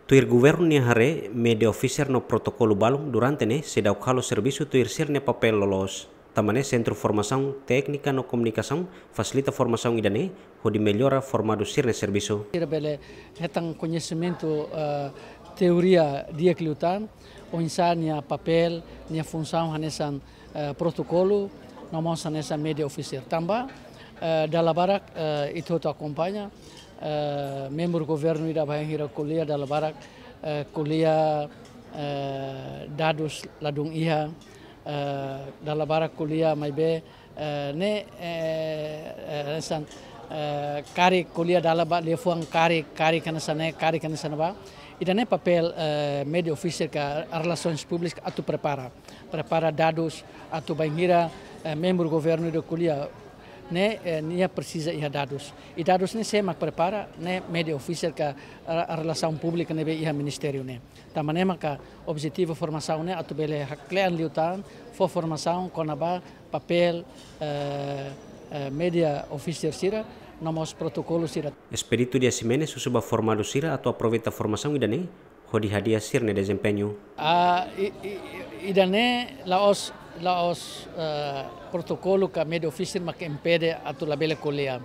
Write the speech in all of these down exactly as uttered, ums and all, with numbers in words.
Tuir governu nia haree, media officer no protokolu balun durante ne'e seidauk halo servisu tuir sira-nia papél loloos. Tanba ne'e Sentru Formasaun Téknika no Komunikasaun fasilita formasaun ida-ne'e hodi mellora formadu sira-nia servisu. Sira bele hetan koñesimentu, eh, teoria di'ak liután, oinsá nia papél, nia funsaun hanesan, eh, protokolu, no mós hanesan media officer. Tanba, eh, dala barak, eh, ita hotu akompaña, eh, membru governu ida bainhira ko'alia dala barak, eh, ko'alia, eh, dadus ladún iha, eh, dala barak ko'alia maibé, eh, ne'e, eh, eh, hanesan, eh, karik ko'alia dala ba liafuan karik, karik hanesan ne'e, karik hanesan ne'ebá. Ida-ne'e papél, eh, media officer ka relasoens públikas atu prepara. Prepara dadus atu bainhira, eh, membru governu ida ko'alia ne'e, eh, nia presiza iha dadus. I dadus ne'e sé mak prepara, ne'e media officer ka re-, relasaun públika ne'ebé iha ministériu ne'e. Tanba ne'e maka objetivu formasaun ne'e atu bele hakle'an liután, fó formasaun kona-ba papél, eh, eh, media officer sira, no mós protokolu sira. Expedito Dias Ximenes husu ba formadu sira atu aproveita formasaun ida-ne'e hodi hadi'a sira-nia dezempeñu. Ah, i, i, i, ida-ne'e la'ós, la'ós, eh, protokolu ka media officer mak impede atu labele ko'alia.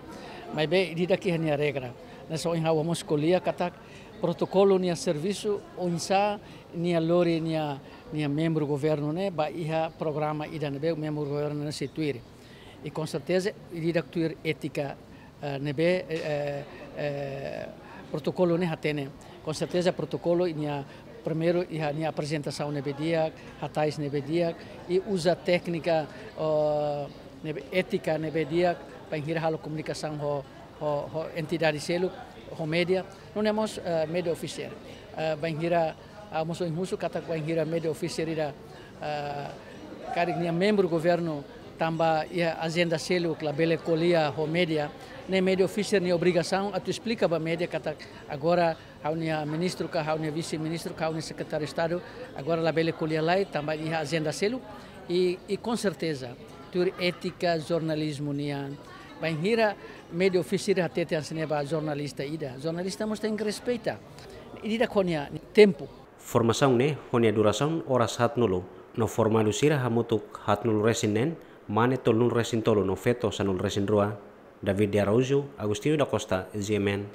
Maibé ida-idak iha nia regra. Ne'e só ohin ha'u mós ko'alia katak protokolu nia servisu oinsá nia lori nia, nia membru governu ne'e ba iha programa ida ne'ebé membru governu ne'e sei tuir. I com certeza, ida-idak tuir étika, eh, ne'ebé, eh, eh, protokolu ne'e hatene. Com certeza, protokolu nia primeiru iha nia aprezentasaun ne'ebé di'ak, hatais ne'ebé di'ak, i uza téknika, oh, ne'ebé étika ne'ebé di'ak, bainhira halo komunikasaun ho, ho, ho entidade seluk, ho media, nune'e mós, eh, media officer. Eh, bainhira, ah, mós ohin husu katak bainhira media officer ida, eh, karik nia membru governu tanba iha ajenda seluk labele ko'alia ho media, ne'e media officer nia obrigasaun atu esplika ba media katak agora ha'u-nia ministru ka, ha'u-nia vise-ministru ka, ha'u-nia sekretáriu Estadu, agora labele ko'alia lai, tanba iha ajenda seluk, i, i com certeza, tuir étika jornalizmu nian, bainhira media officer hatete hanesan ne'e ba jornalista ida, jornalista mós tenke respeita. Ida-idak ho nia tempu. Formasaun ne'e ho nia durasaun oras haatnulu, no formadu sira hamutuk haatnulu-resin-neen, mane tolunulu-resin-tolu no feto sanulu-resin-rua. David de Araújo, Agostinho da Costa, G M N.